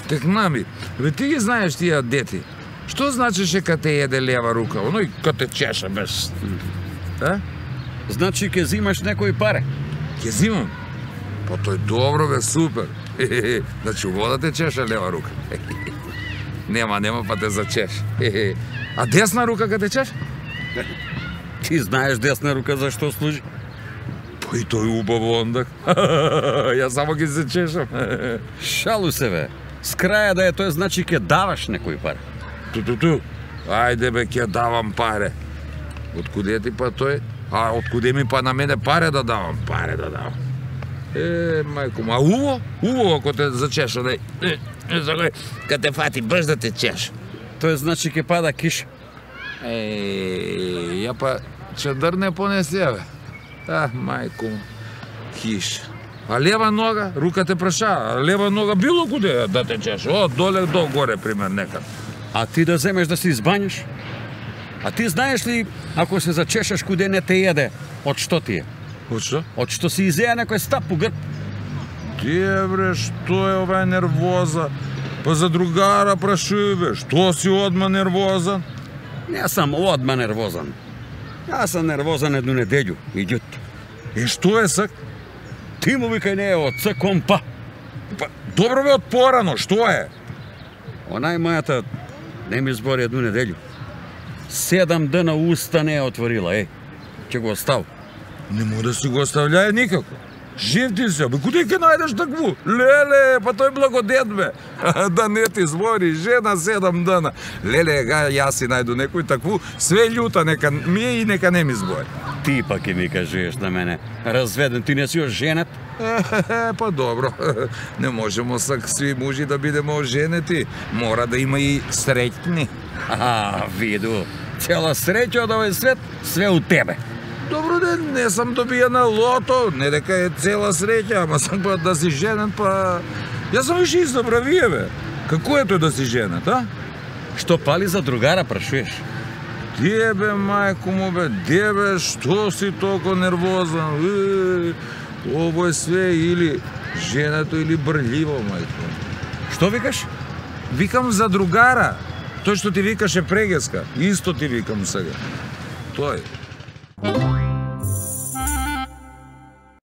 Текнами, бе ти ги знаеш тие дети. Што значеше кога те еде лева рука, оној кога те чеша без... Значи ке зимаш некои паре? Ке зимам? Па тој добро бе, супер. Значи вода те чеша лева рука. Нема па те зачеш. А десна рука кога те чеш? Ти знаеш десна рука за што служи? Па и тој убаво ондак. Јас само ги се чешам. Шалу се бе. С краја да е тој значи ке даваш некои пари. Ту. Ајде бе, ќе давам паре. Откуде ти па тој? А откуде ми па на мене паре да давам? Мајко, а убаво ако те зачеша, кога те фати брз да те чеш. Тој значи ке пада киша. Ја па чедър не понесе, бе. Мајко, киш. А лева нога, рука те праша, а лева нога било куде да те чеше. Од доле до горе, пример, некад. А ти да земеш да се избањаш? А ти знаеш ли, ако се зачешеш куде не те еде, од што ти е? Од што? Од што си изеја некој стап по грб. Тие бре, што е ова нервоза? Па за другара прашуј бе, што си одма нервозан? Не сам одма нервозан. Јас сам нервозан едну неделју, идјут. Што е сак? Ти му викај не е од Ц кон П. Па, добро бе од порано, што е? Онај мојата не ми збори едну неделју. 7 дена уста не е отворила, ќе го остав. Нему да си го остављај никако. Жив ти се, бе, куде ќе најдеш такву? Леле, па тој благодет, бе. Да не ти збори, жена 7 дена. Леле, јас си најду некој такву, све љута, нека ми е и нека не ми збори. Ти па ќе ми кажеш на мене, разведен, ти не си оженет? Па добро, не можемо сак сви мужи да бидеме оженети. Мора да има и среќни. Виду, цела среќа од овој свет, све у тебе. Добро ден, не сам добија на лото, не дека е цела среќа, ама сам па да си женен, па... Јас сам више избра вие, бе. Како е тој да си женет, а? Што пали за другара, прашуеш? Де бе, мајко му бе, де бе, што си толку нервозан? Ово е све или женето или брљиво, мајко. Што викаш? Викам за другара. Тој што ти викаше прегеска, исто ти викам сега. Тој.